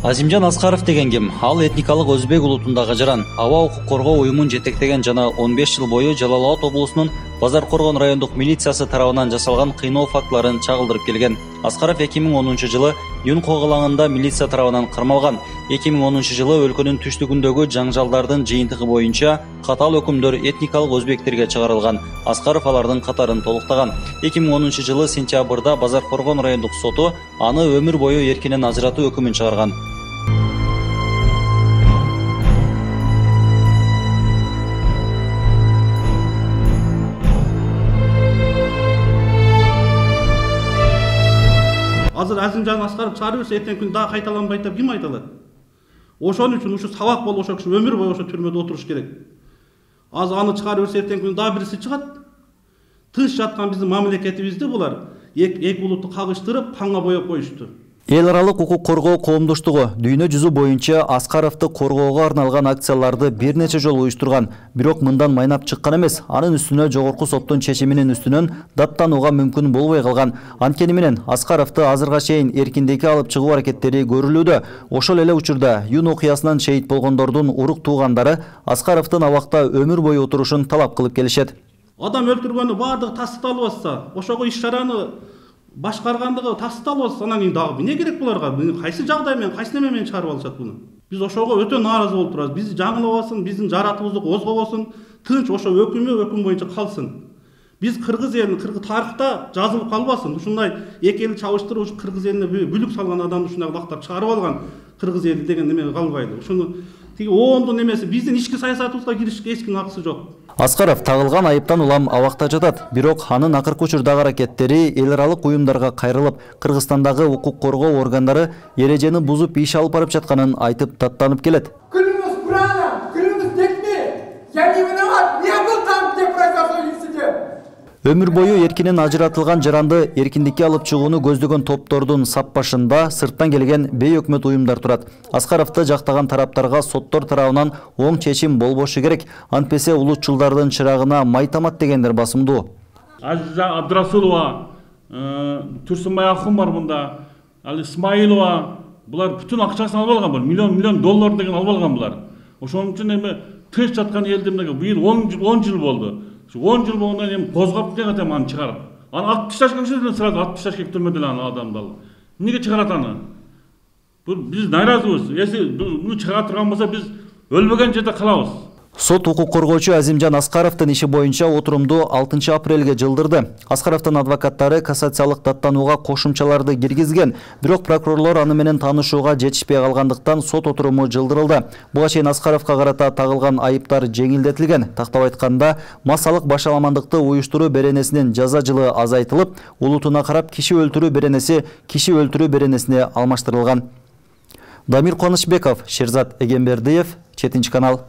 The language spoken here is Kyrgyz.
Азимжан Аскаров деген ким? Ал этникалык өзбек улутундагы жаран. Аба укук коргоо уюмун жетектеген жана 15 жыл бою Жалал Абад облусунун Базар Коргон райондук милициясы тарабынан жасалган кыйноо фактыларын чагылдырып келген. Аскаров 2010 жылы Юн когалаңында милиция тарабынан кармалган. 2010 жылы өлкөнүн түштүгүндөгү жаңжалдардын жыйынтыгы боюнча катаал өкүмдөр этникалык өзбектерге чыгарылган. Аскаров алардын катарын толуктаган. 2010 жылы сентябрда Базар Коргон райондук соту аны өмүр бою эркинен ажыратуу өкүмүн чыгарган. Азыр Азимжан Аскаров чыгарып берсе, эртең күн дагы кайталанбайт деп ким айта алат? Ошон үчүн ушу сабак болуп, ошо киши өмүр бою ошо түрмөдө отуруш керек. Азыр аны чыгарып берсе, эртең күн дагы бириси чыгат. Тыныч жаткан биздин мамлекетибизди булар эки улутту кагыштырып, канга боеп коюшту. Эл аралык укук коргоо коомдоштугу дүйнө жүзү боюнча Аскаровду коргоого арналган акцияларды бир нече жолу уюштурган. Бирок мындан майнап чыккан эмес, анын үстүнө жогорку соттун чечиминин үстүнөн даттанууга мүмкүн болбой калган. Анткени менен Аскаровду азырга чейин эркиндикке алып чыгуу аракеттери көрүлүүдө. Ошол эле учурда Юн окуясынан шейит болгондордун урук туугандары Аскаровдун абакта өмүр бою отурушун талап кылып келишет. Адам өлтүргөнү баардыгы тастыкталып атса, ошого иш чараны башкаргандыгы тастыкталып атса, анан кийин дагы эмне керек буларга? Кайсы жагдай менен, кайсы неме менен чыгарып алышат буну? Биз ошого өтө нааразы болуп турабыз. Бизди жаңылабасын, биздин жаратыбызды козгобосун, тынч ошо өкүм боюнча калсын. Биз кыргыз элин тарыхта жазылып калбасын. Ушундай эки элди чабыштырып, ушу кыргыз элине бүлүк салган адамды ушундай лактап чыгарып алган кыргыз эли деген неме калбайды. Ушуну тиги оондун эмеси биздин ички саясатыбызга киришке эч кимдин акысы жок. Аскаров тагылган айыптан улам абакта жатат. Бирок анын акыркы учурдагы аракеттери эл аралык уюмдарга кайрылып, Кыргызстандагы укук коргоо органдары эрежени бузуп иш алып барып жатканын айтып даттанып келет. Клянусь Бураном, клянусь детьми, я не виноват, не был там, где произошел инцидент. Өмүр бою эркинен ажыратылган жаранды эркиндикке алып чыгууну көздөгөн топтордун сап башында сырттан келген бейөкмөт уюмдар турат. Аскаровду жактаган тараптарга соттор тарабынан оң чечим болбошу керек. Антпесе улутчулдардын чырагына май тамат дегендер басымдуу. Азиза Абдрасулова, Турсунбай Ахун бар мында, ал Исмаилова, булар бүтүн акчасын алып алган, миллион доллар деген алып алган булар. Ошон үчүн эми тынч жаткан элди быйыл 10 жыл болду. 10 жыл болгондон кийин козгоп деген аны чыгарып. Аны атып ташташка киши сразу атып ташташ керек түрмөдө аны адамды алып. Эмнеге чыгарат аны? Бул биз наразыбыз. Эси буну чыгара турган болсо биз өлбөгөн жерде калабыз. Сот укук коргоочу Азимжан Аскаровдун иши боюнча отурумду 6 апрелге жылдырды. Аскаровдун адвокаттары кассациялык даттанууга кошумчаларды киргизген, бирок прокурорлор аны менен таанышууга жетишпей калгандыктан сот отуруму жылдырылды. Буга чейин Аскаровго карата тагылган айыптар жеңилдетилген. Тактап айтканда, массалык башаламандыкты уюштуруу беренесинин жаза жылы азайтылып, улутуна карап киши өлтүрүү беренеси киши өлтүрүү беренесине алмаштырылган. Дамир Кубанычбеков, Шерзат Эгембердиев, 7 канал.